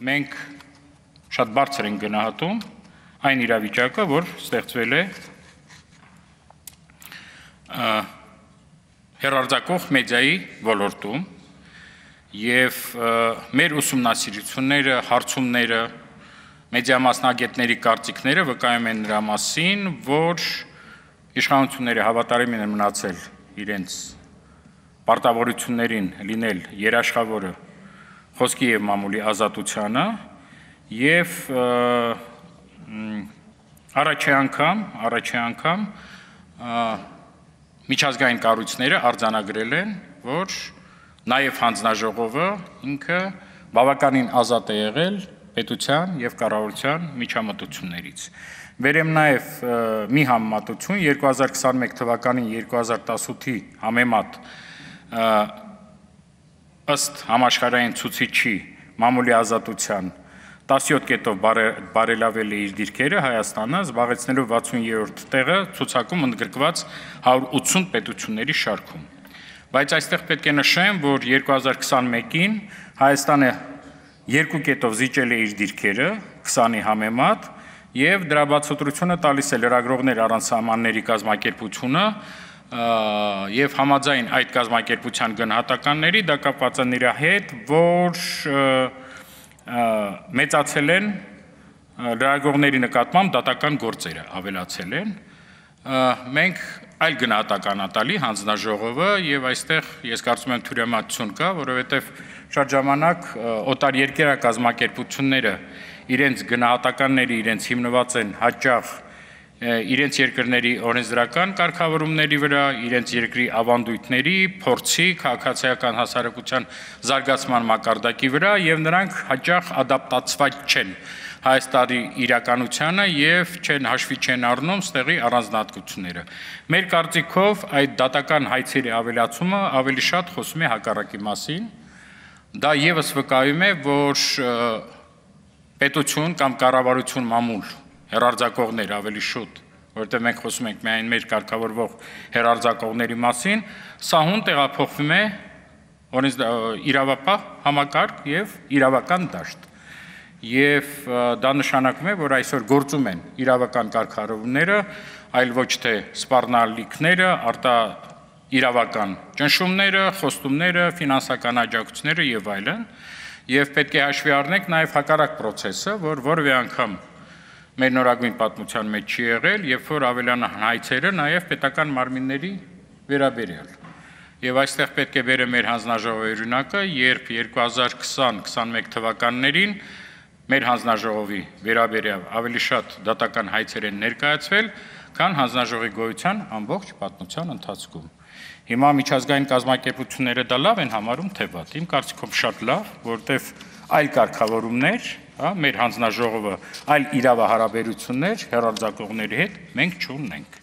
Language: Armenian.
մենք շատ բարձր ենք գնահատում այն իրավիճակը, որ ստեղծվել է հեռարձակող մեդիայի ոլորտում եւ մեր ուսումնասիրությունները, հարցումները, մեդիա մասնագետների կարծիքները վկայում են նրա մասին, որ իշխանությունները հավատարիմ են մնացել իրենց պարտավորություններին լինել երաշխավորը խոսքի եւ մամուլի ազատությանը եւ առաջի անգամ միջազգային կառույցները արձանագրել են, որ նաև հանձնաժողովը ինքը բավականին ազատ է եղել պետության եւ կառավարության միջամտություններից։ Վերեմ նաև մի համեմատություն 2021 թվականին 2018-ի համեմատ ըստ համաշխարհային ցուցիչի մամուլի ազատության 17 կետով բարելավել է իր դիրքերը Հայաստանը, զբաղեցնելով 60-րդ տեղը ցուցակում ընդգրկված 180 պետությունների շարքում։ Բայց այստեղ պետք է նշեմ, որ 2021-ին Հայաստանը 2 կետով զիջել է իր դիրքերը 20-ի համեմատ եւ դրա բացատրությունը տալիս է լրագրողներ առանց սահմանների կազմակերպությունը եւ համաձայն այդ կազմակերպության գնահատականների դա կապված է նրա հետ, որ մեծացել են լրագրողների նկատմամբ դատական գործերը ավելացել են, մենք այլ գնահատականատալի հանձնաժողովը եւ այստեղ ես կարծում եմ թյուրամատություն կա, որովհետեւ շատ ժամանակ օտարերկրյա կազմակերպությունները իրենց գնահատականները իրենց հիմնված են հաճախ իրենց երկրների օրենսդրական կարգավորումների վրա, իրենց երկրի ավանդույթների, փորձի, քաղաքացիական հասարակության զարգացման մակարդակի վրա եւ նրանք հաճախ ադապտացված չեն Հայաստանի իրականությանը եւ հաշվի չեն առնում ստեղի առանձնահատկությունները։ Մեր կարծիքով այդ դատական հայցերի ավելացումը ավելի շատ խոսում է հակառակի մասին։ Դա եւս վկայում է, որ պետություն կամ կառավարություն մամուլ հեռարձակողներ ավելի շուտ, որտեղ մենք խոսում ենք միայն մեր կարգավորվող հեռարձակողների մասին, սահուն տեղափոխվում է իրավապահ համակարգ եւ իրավական դաշտ։ Եվ դա նշանակում է, որ այսօր գործում են իրավական կարգավորումները, այլ ոչ թե սպառնալիքները, իրավական ճնշումները, խոստումները, ֆինանսական աջակցությունները եւ այլն, եւ պետք է հաշվի առնենք նաեւ հակառակ process-ը, որ որևէ անգամ մեր նորագույն պատմության մեջ չի եղել, երբ որ ավելանան հայցերը նաև պետական մարմինների վերաբերյալ։ Եվ այստեղ պետք է բերեմ մեր հանձնաժողովի օրինակը, երբ 2020-21 թվականներին մեր հանձնաժողովի վերաբերյալ ավելի շատ դատական հայցեր են ներկայացվել, քան հանձնաժողովի գոյության ամբողջ պատմության ընթացքում։ Հիմա միջազգային կազմակերպությունները դա լավ են համարում, թե վատ։ Իմ կարծիքով շատ լավ, որտեղ այլ կարգավորումներ մեր հանձնաժողովը այլ իրավահարաբերություններ հեռարձակողների հետ մենք չունենք։